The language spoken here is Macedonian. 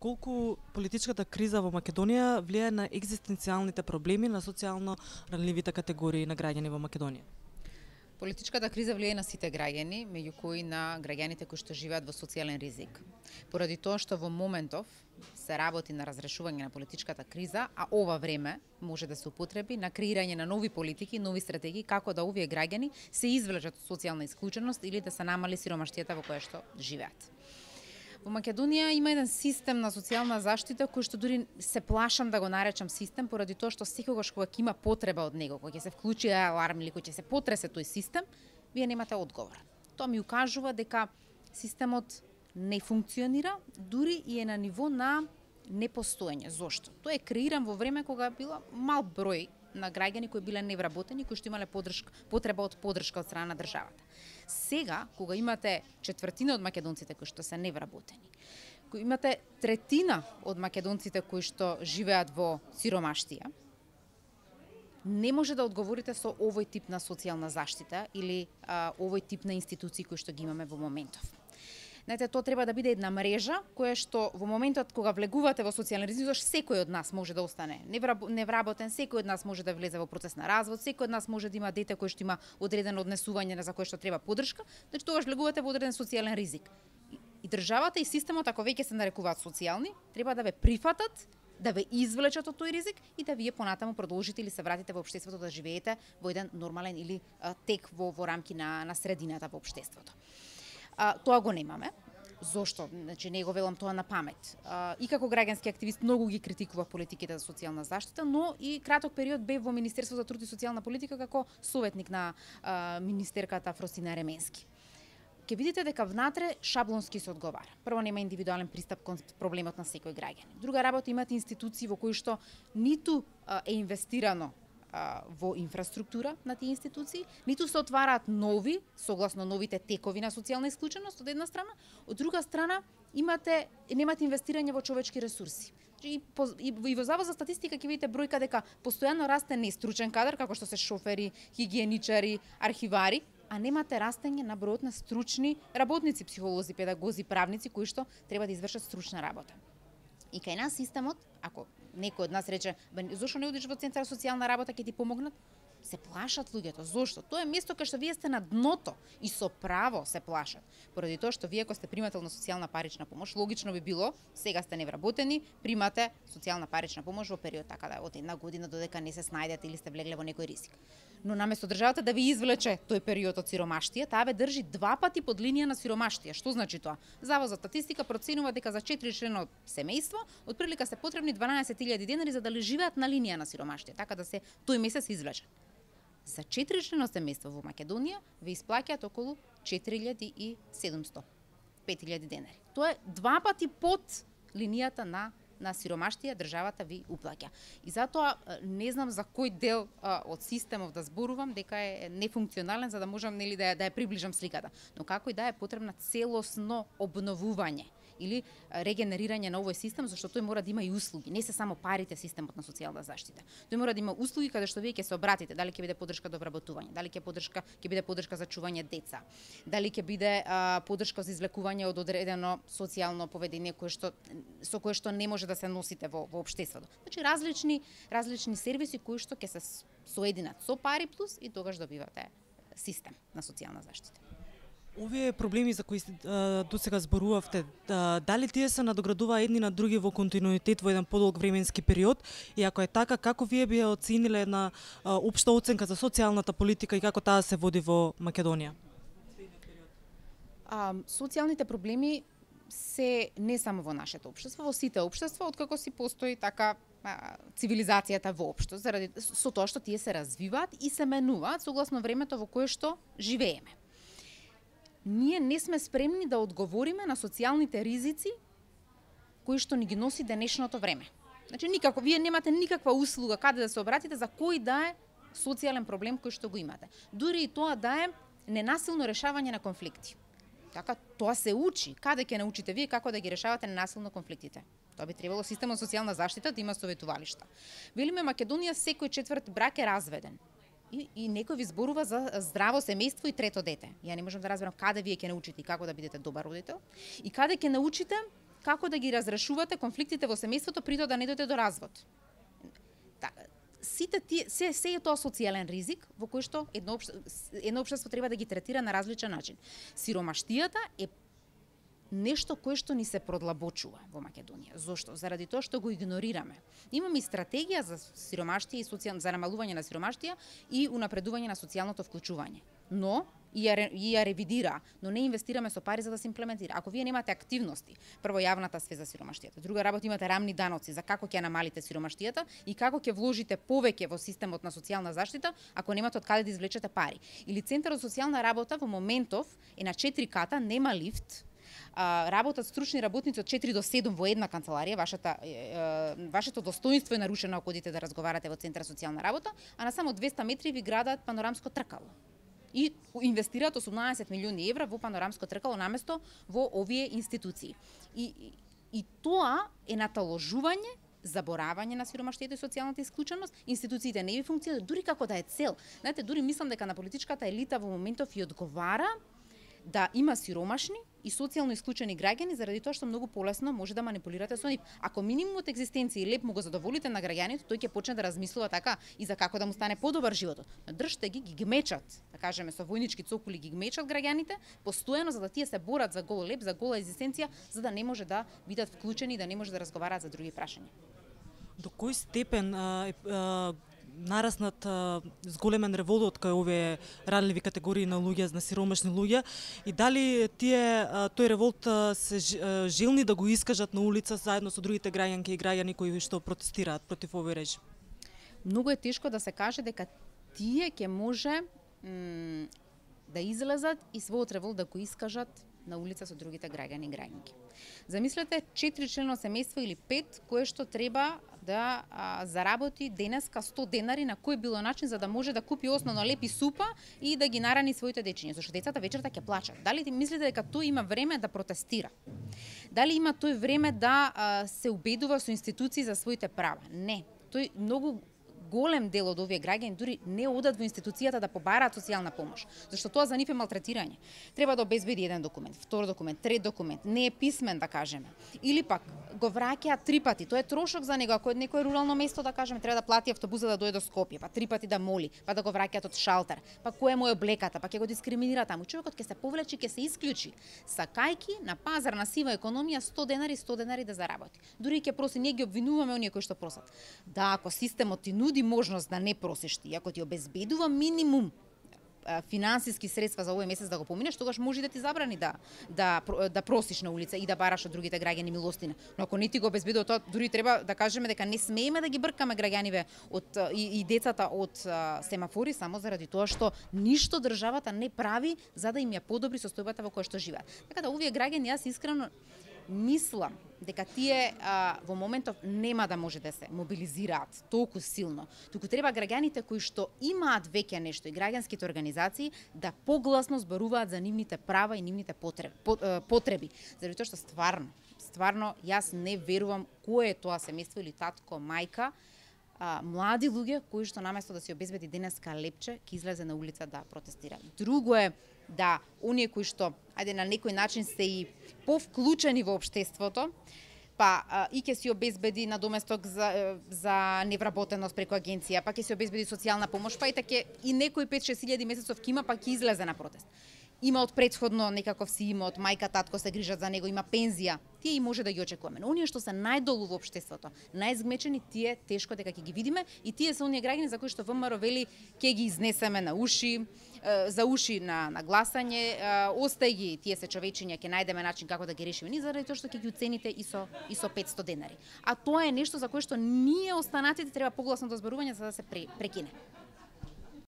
колку политичката криза во Македонија влијае на екзистенцијалните проблеми на социјално ранливите категории на граѓани во Македонија? Политичката криза влијае на сите граѓани, меѓу кои на граѓаните кои што живеат во социјален ризик. Поради тоа што во моментов се работи на разрешување на политичката криза, а ова време може да се употреби на креирање на нови политики, нови стратегии како да овие граѓани се извлечат од социјална исклученост или да се намали сиромаштијата во која што живеат. Во Македонија има еден систем на социјална заштита кој што дури се плашам да го наречам систем, поради тоа што секогаш кога ќе има потреба од него, кога ќе се вклучи аларм или кога ќе се потресе тој систем, вие немате одговор. Тоа ми укажува дека системот не функционира, дури и е на ниво на непостоење. Зошто? Тој е креиран во време кога била мал број на граѓани кои биле невработени, кои што имале потреба од поддршка од страна на државата. Сега, кога имате четвртина од македонците кои што се невработени, кога имате третина од македонците кои што живеат во сиромаштија, не може да одговорите со овој тип на социјална заштита или овој тип на институции кои што ги имаме во моментов. Знаете, тоа треба да биде една мрежа која што во моментот кога влегувате во социјален ризик, секој од нас може да остане невработен, секој од нас може да влезе во процес на развод, секој од нас може да има дете кој што има одредено однесување за кое што треба поддршка, значи тогаш влегувате во одреден социјален ризик. И државата и системот, ако веќе се нарекуваат социјални, треба да ве прифатат, да ве извлечат од тој ризик и да вие понатаму продолжите или се вратите во општеството да живеете во еден нормален или тек во рамки на средината во општеството. Тоа го немаме. Зошто? Значи, не го велам тоа на памет. И како граѓански активист многу ги критикував политиките за социјална заштита, но и краток период бев во Министерството за труд и социјална политика како советник на министерката Фросина Ременски. Ке видите дека внатре шаблонски се одговара. Прво, нема индивидуален пристап кон проблемот на секој граѓанин. Друга работа, имате институции во кои што ниту е инвестирано во инфраструктура на тие институции, ниту се отвараат нови, согласно новите текови на социјална исклученост од една страна, од друга страна немате инвестирање во човечки ресурси. И во Завод за статистика ќе видите бројка дека постојано расте нестручен кадар, како што се шофери, хигиеничари, архивари, а немате растење на бројот на стручни работници, психолози, педагози, правници кои што треба да извршат стручна работа. И кај нас системот, ако некој од нас рече, зошто не одиш во центар за социјална работа, ќе ти помогнат? Се плашат луѓето. Зошто? Тоа е место кај што вие сте на дното и со право се плашат. Поради тоа што вие ако сте примател на социјална парична помош, логично би било, сега сте невработени, примате социјална парична помош во период така да од една година додека не се снајдете или сте влегле во некој ризик. Но наместо државата да ви извлече тој период од сиромаштија, таа ве држи 2 пати под линија на сиромаштија. Што значи тоа? Завод за статистика проценува дека за 4-члено семејство отприлика се потребни 12.000 денари за да живеат на линија на сиромаштија, така да се тој месец извлечат. За 4-члено семејство во Македонија ве исплаќаат околу 4.700, 5.000 денари. Тоа е 2 пати под линијата на сиромаштија државата ви уплаќа. И затоа не знам за кој дел од системов да зборувам дека е нефункционален за да можам нели да ја приближам сликата, но како и да е потребна целосно обновување или регенерирање на овој систем, зашто тој мора да има и услуги, не се само парите системот на социјална заштита. Тој мора да има услуги каде што вие ќе се обратите, дали ќе биде поддршка до вработување, дали ќе биде поддршка за чување деца, дали ќе биде поддршка за извлекување од одредено социјално поведение со кое што не може да се носите во општеството. Значи различни сервиси кои што ќе се соединат со пари плюс и тогаш добивате систем на социјална заштита. Овие проблеми за кои досега зборувавте, дали тие се надоградуваат едни на други во континуитет во еден подолг временски период и ако е така, како вие би оцениле една општа оценка за социјалната политика и како таа се води во Македонија? Социјалните проблеми се не само во нашето општество, во сите општества, откако си постои така цивилизацијата воопшто, со тоа што тие се развиваат и се менуваат согласно времето во кое што живееме. Ние не сме спремни да одговориме на социјалните ризици кои што ни ги носи денешното време. Значи никако, вие немате никаква услуга каде да се обратите за кој да е социјален проблем кој што го имате. Дури и тоа да е ненасилно решавање на конфликти. Така, тоа се учи. Каде ќе научите вие како да ги решавате ненасилно конфликтите? Тоа би требало системот социјална заштита да има советувалишта. Велиме Македонија секој четврт брак е разведен. И некој ви зборува за здраво семејство и трето дете. Ја не можам да разберам каде вие ќе научите и како да бидете добар родител и каде ќе научите како да ги разрешувате конфликтите во семејството при тоа да не дојде до развод. Сите тие се е тоа социјален ризик во кој што едно општество треба да ги третира на различен начин. Сиромаштијата е нешто кое што ни се продлабочува во Македонија. Зошто? Заради тоа што го игнорираме. Имаме и стратегија за сиромаштија и за намалување на сиромаштија и унапредување на социјалното вклучување. Но и ја ревидира, но не инвестираме со пари за да се имплементира. Ако вие немате активности, прво јавната свест за сиромаштијата, друга работа имате рамни даноци за како ќе намалите сиромаштијата и како ќе вложите повеќе во системот на социјална заштита, ако немате од каде да извлечете пари. Или Центарот за социјална работа во моментов е на 4 ката, нема лифт, работат стручни работници од 4 до 7 во една канцеларија, вашето достоинство е нарушено ако одите да разговарате во Центар за социјална работа, а на само 200 метри ви градат панорамско тркало. И инвестираат 18 милиони евра во панорамско тркало наместо во овие институции. И тоа е наталожување, заборавање на сиромаштието и социјалната исклученост, институциите не ви функционираат, дури како да е цел. Знаете, дури мислам дека на политичката елита во моментов и одговара да има сиромашни и социјално исклучени граѓани заради тоа што многу полесно може да манипулирате со нив. Ако минимумот екзистенција и леп му го задоволите на граѓаните, тој ќе почне да размислува така и за како да му стане подобар животот. Но држте ги гмечат, да кажеме со војнички цокули ги гмечат граѓаните постојано за да тие се борат за гол леп, за гола екзистенција, за да не може да бидат вклучени и да не може да разговараат за други прашања. До кој степен нараснат зголемен револт кај овие ранливи категории на луѓе, на сиромашни луѓе, и дали тој револт се желни да го искажат на улица заедно со другите граѓанки и граѓани кои што протестираат против овој режим? Многу е тешко да се каже дека тие ќе може да излезат и својот револт да го искажат на улица со другите граѓани и граѓанки. Замислете 4 члено семејство или 5 кое што треба да заработи денеска 100 денари на кој било начин за да може да купи основно лепи супа и да ги нарани своите дечиња, зашто децата вечерта ќе плачат. Дали ти мислите дека тој има време да протестира? Дали има тој време да се убедува со институции за своите права? Не. Тој многу голем дел од овие граѓани дури не одат во институцијата да побараат социјална помош, зашто тоа за нив е малтретирање. Треба да обезбеди еден документ, втор документ, трет документ, не е писмен да кажеме. Или пак го враќаат 3 пати, тоа е трошок за него, ако е некое рурално место да кажеме, треба да плати автобуса да дојде до Скопје, па 3 пати да моли, па да го враќаат од шалтер, па кој е мој облеката, па ќе го дискриминира таму. Човекот ќе се повлечи, ќе се исклучи, сакајки на пазар на сива економија 100 денари да заработи. Дури ќе проси, ние ги обвинуваме оние кои што просат. Да, ако системот ти нуди можност да не просиш ти, ако ти обезбедува минимум финансиски средства за овој месец да го поминеш, тогаш може да ти забрани да просиш на улица и да бараш од другите граѓани милостина. Но ако не ти го обезбедува тоа, дури треба да кажеме дека не смееме да ги бркаме граѓаниве и децата од семафори само заради тоа што ништо државата не прави за да им ја подобри состојбата во која што живеат. Така да овие граѓани, јас искрено мислам дека тие во моментов нема да може да се мобилизираат толку силно, туку треба граѓаните кои што имаат веќе нешто и граѓанските организации да погласно зборуваат за нивните права и нивните потреби. Заради тоа што стварно јас не верувам кое е тоа семејство или татко, мајка, млади луѓе кои што наместо да се обезбеди денеска лепче, ќе излезе на улица да протестира. Друго е да оние кои што на некој начин се и повклучени во општеството, па и ќе се обезбеди надоместок за невработеност преку агенција, па ќе се обезбеди социјална помош, па и таке и некој 5-6 илјади месецов ќе има, па ќе излезе на протест. Има од претходно некаков си имот, мајка, татко се грижат за него, има пензија, тие и може да ги очекуваме. Но оние што се најдолу во општеството, најзгмечени, тие тешко дека ќе ги видиме и тие се оние граѓани за кои што ВМРО вели ќе ги изнесеме на уши, за уши на гласање, остај ги, тие се човечиња, ќе најдеме начин како да ги решиме, ни заради тоа што ќе ги уцените и со 500 денари. А тоа е нешто за кое што ние останатите треба погласно да зборување за да се прекине.